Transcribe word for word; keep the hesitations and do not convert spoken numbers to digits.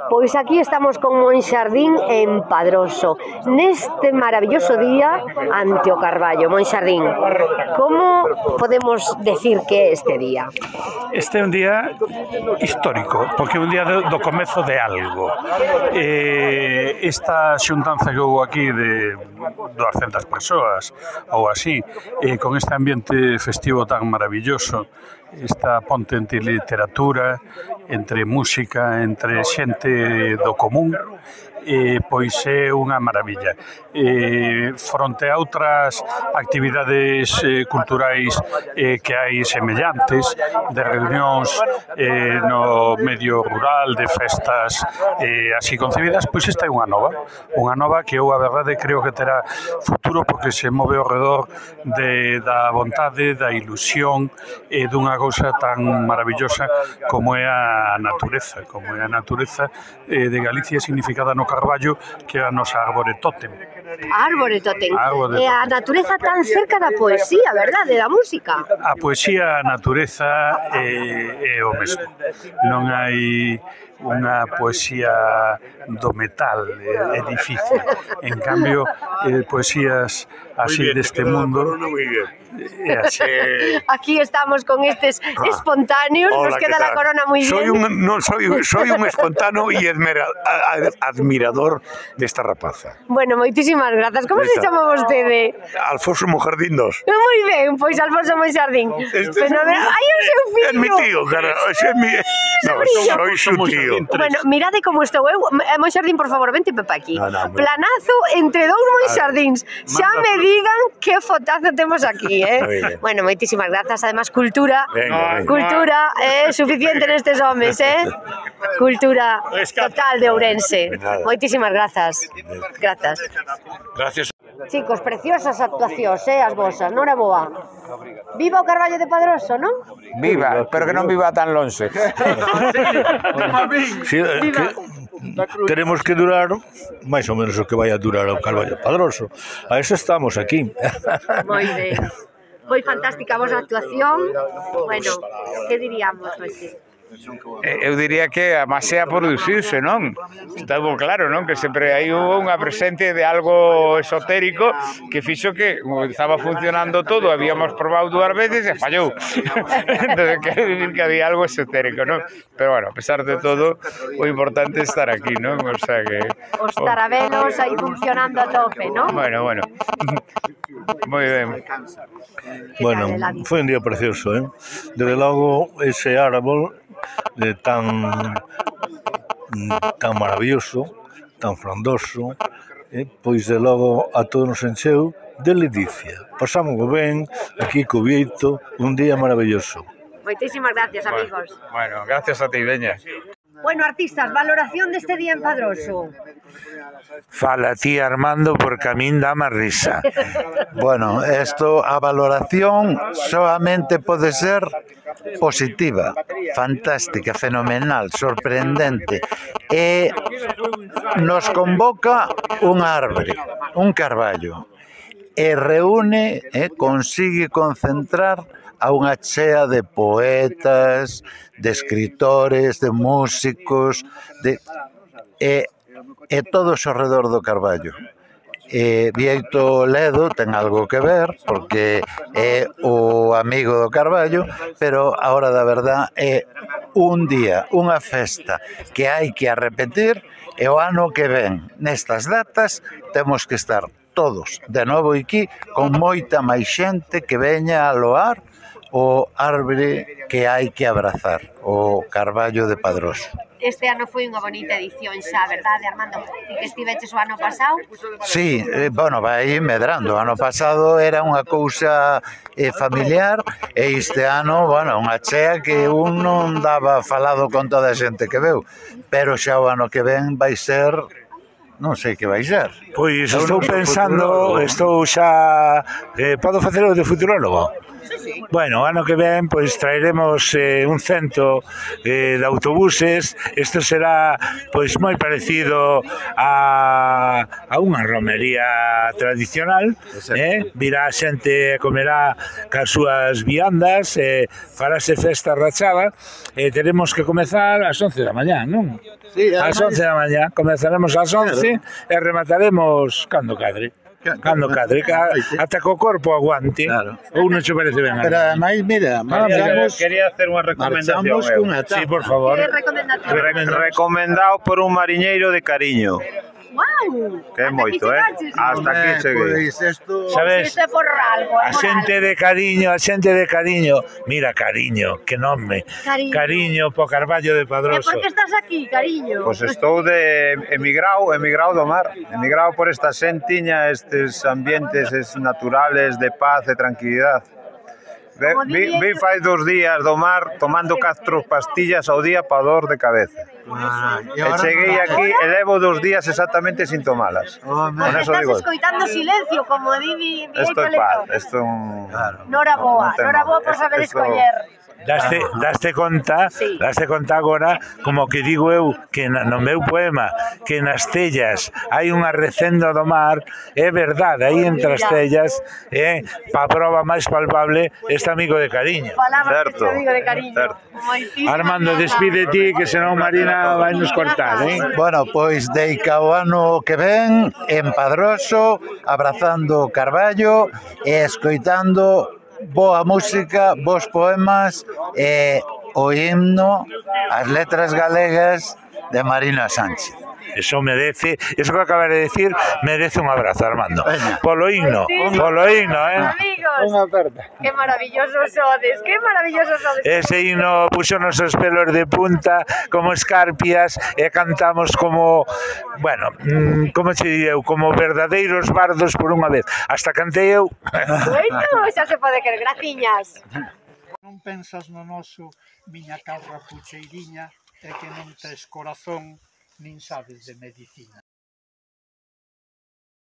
Pois aquí estamos con Monxardín en Padroso, neste maravilloso día ante o Carballo. Monxardín, como podemos decir que é este día? Este é un día histórico, porque é un día do, do comezo de algo. Eh, esta xuntanza que houve aquí de doscientas persoas ou así, eh, con este ambiente festivo tan maravilloso, esta ponte entre literatura, entre música, entre xente do común, eh, pois é unha maravilla. Eh, fronte a outras actividades eh, culturais eh, que hai semellantes, de reunións eh, no medio rural, de festas eh, así concebidas, pois esta é unha nova, unha nova que eu a verdade creo que terá futuro porque se move ao redor de, da vontade, da ilusión e eh, dunha cousa tan maravillosa como é a natureza, como é a natureza eh, de Galicia significada no Carballo, que é a nosa árbore tótem. Árbore tótem. Árbore E a natureza tan cerca da poesía, verdade, da música. A poesía, a natureza é, é o mesmo. Non hai unha poesía do metal, é, é difícil. En cambio, eh, poesías así deste mundo... É así. Aquí estamos con estes espontáneos, nos queda la corona moi bien. Soy un, no, soy, soy un espontáneo e admira, admirador desta rapaza. Bueno, moitísimas grazas. Como se chama vostede? Alfonso Monxardín dos. Moi ben, pois Alfonso Monxardín. Este Pero, ai, o seu fillo. É mi tío, cara. É mi... No, soy su tío. Bueno, mirade como estou eu. Monxardín, por favor, vente pepa aquí. No, no, Planazo entre dous Monxardíns. Xa me digan que fotazo temos aquí, eh? Bueno, moitísimas grazas. Además, cultura, venga, venga. cultura é eh, suficiente nestes homes, eh? Cultura total de Ourense. Moitísimas grazas. Grazas. Gracias. Chicos, preciosas actuacións, eh, as vosas, non é boa? Viva o Carballo de Padroso, non? Viva, pero que non viva tan lonxe. Sí, que teremos que durar máis ou menos o que vai a durar o Carballo de Padroso. A eso estamos aquí. Moi ben. Foi fantástica a vosa actuación. Bueno, que diríamos hoxe? Eu diría que a masea producirse, non? Está moi claro, non? Que sempre hai unha presente de algo esotérico que fixo que estaba funcionando todo, habíamos probado dúas veces e fallou. Entón, quero dicir que había algo esotérico, non? Pero, bueno, a pesar de todo, o importante é estar aquí, non? O sea que... Os tarabelos aí funcionando a tope, non? Bueno, bueno. Moi ben. Bueno, foi un día precioso, eh? Desde logo, ese árbol de tan tan maravilloso, tan frondoso, eh, pois de logo a todos nos encheu de ledicia. Pasamos ben aquí co Bieito, un día maravilloso. Moitísimas gracias, amigos. Bueno, gracias a ti, Veña. Bueno, artistas, valoración deste día en Padroso. Fala ti, Armando, porque a min dá máis risa. Bueno, esto, a valoración solamente pode ser positiva, fantástica, fenomenal, sorprendente. E nos convoca un árbore, un carballo, e reúne, eh, consigue concentrar a unha chea de poetas, de escritores, de músicos, de e, e todos ao redor do Carballo. E Bieito Ledo ten algo que ver, porque é o amigo do Carballo, pero a hora da verdad é un día, unha festa que hai que a repetir, e o ano que ven, nestas datas, temos que estar todos de novo aquí, con moita máis xente que veña a loar o árbore que hai que abrazar, o Carballo de Padroso. Este ano foi unha bonita edición xa, verdade, Armando? Ti que estiveches o ano pasado? Sí, eh, bueno, vai medrando. O ano pasado era unha cousa eh, familiar e este ano, bueno, unha chea que un non daba falado con toda a xente que veu. Pero xa o ano que ven vai ser... non sei que vai ser. Pois estou pensando, estou xa... Eh, podo facer o de futurólogo? Bueno, ano que ven pois traeremos eh, un cento eh, de autobuses. Isto será pois moi parecido a, a unha romería tradicional, eh? Virá a xente e comerá cas súas viandas, eh, farase festa rachada e teremos que comezar ás once da mañá, non? Ás once da mañá, comezaremos ás once e remataremos cando cadre. Cando cadre, ata que o corpo aguante. Ou non che parece ben? Pero ademais, mira, marchamos, Quería hacer unha recomendación. marchamos eu. cunha Sí, etapa. por favor. Que recomendación? Re- Recomendado por un mariñeiro de cariño. Guau! Que é moito, eh? Hasta aquí cheguei. Pois isto... Sabes? Isto é por algo, é A por xente algo. de cariño, a xente de cariño. Mira, cariño, que nome. Cariño. Cariño po Carballo de E Padroso. por que estás aquí, cariño? Pois estou de emigrado, emigrado do mar. Emigrado por esta xentiña, estes ambientes es naturales de paz e tranquilidade. Ve- Como Vi, diría vi yo- fai dos días do mar tomando catro pastillas ao día pa dor de cabeza. Ah, e E ahora cheguei non- aquí e levo dos días exactamente sin tomalas. Home, Con eso Estás digo. escoitando silencio, como di mi, mi Esto é Toledo. paz, esto é un... Nora boa, Non ten Nora boa mal. por saber Esto- escoller. Daste, daste conta, Sí. daste conta agora, como que digo eu, que na- no meu poema, que nas tellas hai unha recenda do mar, é verdade, aí entre as tellas, é, pa prova máis palpable, este amigo de cariño. Falaba Certo, este amigo de cariño. certo. Moitísimas Armando, grazas. despide ti, que senón Marina vai nos cortar, eh? Bueno, pois deica o ano que ven en Padroso, abrazando Carballo e escoitando boa música, bons poemas e o himno, as letras galegas de Marina Sánchez. Eso merece, eso que acabas de decir, merece un abrazo, Armando. Veña. Polo himno, polo himno, eh? Amigos, qué maravillosos sodes, qué maravillosos sodes. Ese himno puxo nosos pelos de punta como escarpias e cantamos como, bueno, mm, como che direu, como verdadeiros bardos por unha vez. Hasta cantei eu. Bueno, xa se pode querer, graciñas. Non pensas no noso, miña cabra pucheiriña, e que non tes corazón, nin sabes de medicina.